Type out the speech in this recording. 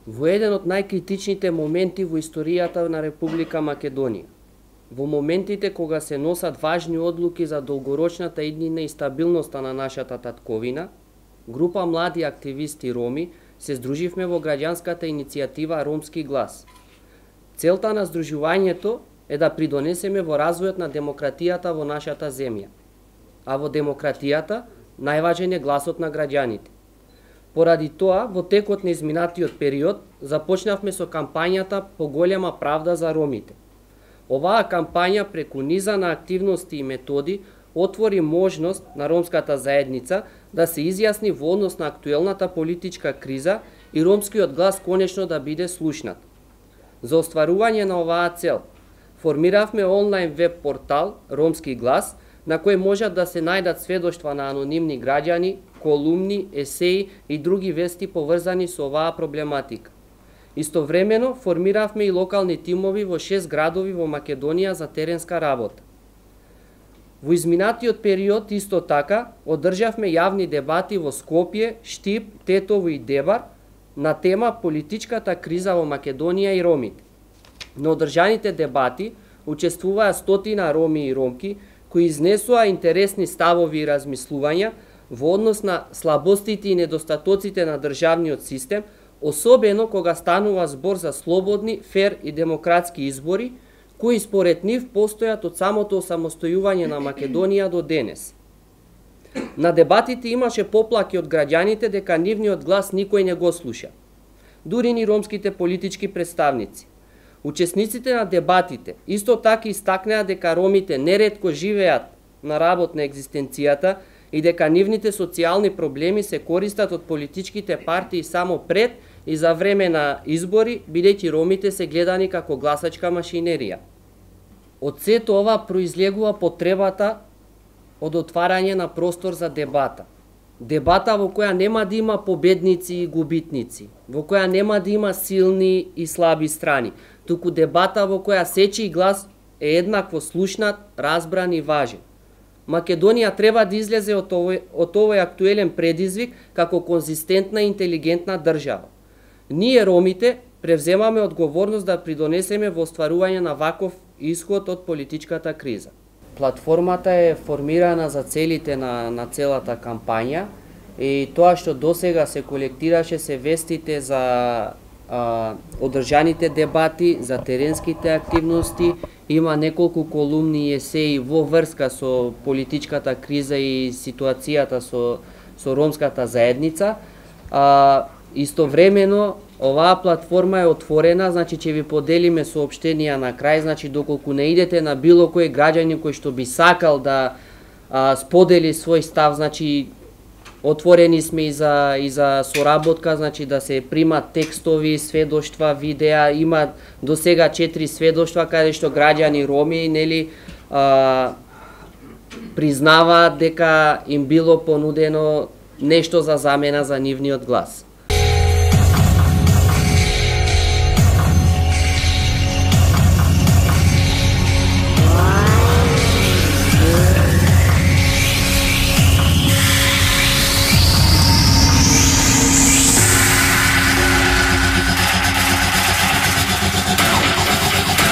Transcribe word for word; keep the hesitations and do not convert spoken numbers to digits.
Во еден од најкритичните моменти во историјата на Република Македонија, во моментите кога се носат важни одлуки за долгорочната иднина и стабилноста на нашата татковина, група млади активисти роми се здруживме во граѓанската иницијатива Ромски глас. Целта на здружувањето е да придонесеме во развојот на демократијата во нашата земја. А во демократијата најважен е гласот на граѓаните. Поради тоа, во текот на изминатиот период, започнавме со кампањата Поголема правда за ромите. Оваа кампања преку низа на активности и методи отвори можност на ромската заедница да се изјасни во однос на актуелната политичка криза и ромскиот глас конечно да биде слушнат. За остварување на оваа цел, формиравме онлайн веб портал Ромски глас, на кој можат да се најдат сведоштва на анонимни граѓани, колумни, есеи и други вести поврзани со оваа проблематика. Истовремено формиравме и локални тимови во шест градови во Македонија за теренска работа. Во изминатиот период исто така одржавме јавни дебати во Скопје, Штип, Тетово и Дебар на тема политичката криза во Македонија и ромите. На одржаните дебати учествуваа стотина роми и ромки кои изнесоа интересни ставови и размислувања во однос на слабостите и недостатоците на државниот систем, особено кога станува збор за слободни, фер и демократски избори, кои според нив постојат од самото осамостојување на Македонија до денес. На дебатите имаше поплаки од граѓаните дека нивниот глас никој не го слуша. Дури ни ромските политички представници. Учесниците на дебатите исто така истакнеа дека ромите неретко живеат на работ на екзистенцијата и дека нивните социјални проблеми се користат од политичките партии само пред и за време на избори, бидејќи ромите се гледани како гласачка машинерија. Од сето ова произлегува потребата од отварање на простор за дебата. Дебата во која нема да има победници и губитници, во која нема да има силни и слаби страни, туку дебата во која сечи глас е еднакво слушнат, разбран и важен. Македонија треба да излезе од овој, од овој актуелен предизвик како конзистентна и интелигентна држава. Ние, ромите, превземаме одговорност да придонесеме во остварување на ваков исход од политичката криза. Платформата е формирана за целите на, на целата кампања и тоа што досега се колектираше се вестите за а, одржаните дебати, за теренските активности, има неколку колумни и есеи во врска со политичката криза и ситуацијата со, со ромската заедница. А, истовремено, оваа платформа е отворена, значи ќе ви поделиме соопштенија на крај, значи доколку не идете на било кој граѓанин кој што би сакал да а, сподели свој став, значи отворени сме и за и за соработка, значи да се примат текстови, сведоштва, видеа, има до сега четири сведоштва каде што граѓани роми, нели, а, признаваат дека им било понудено нешто за замена за нивниот глас.